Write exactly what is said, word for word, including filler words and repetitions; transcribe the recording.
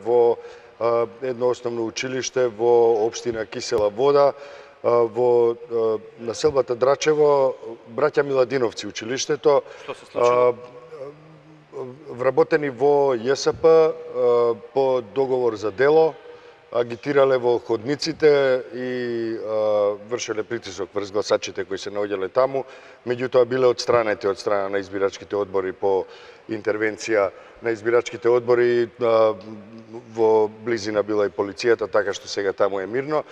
во едно основно училиште во општина Кисела Вода, во населбата Драчево, браќа Миладиновци училиштето. Што се случило? Вработени во ЈСП по договор за дело, агитирале во ходниците и вршеле притисок врз гласачите кои се наоѓале таму, меѓутоа биле отстранети од страна на избирачките одбори по интервенција на избирачките одбори. Во близина била и полицијата, така што сега таму е мирно.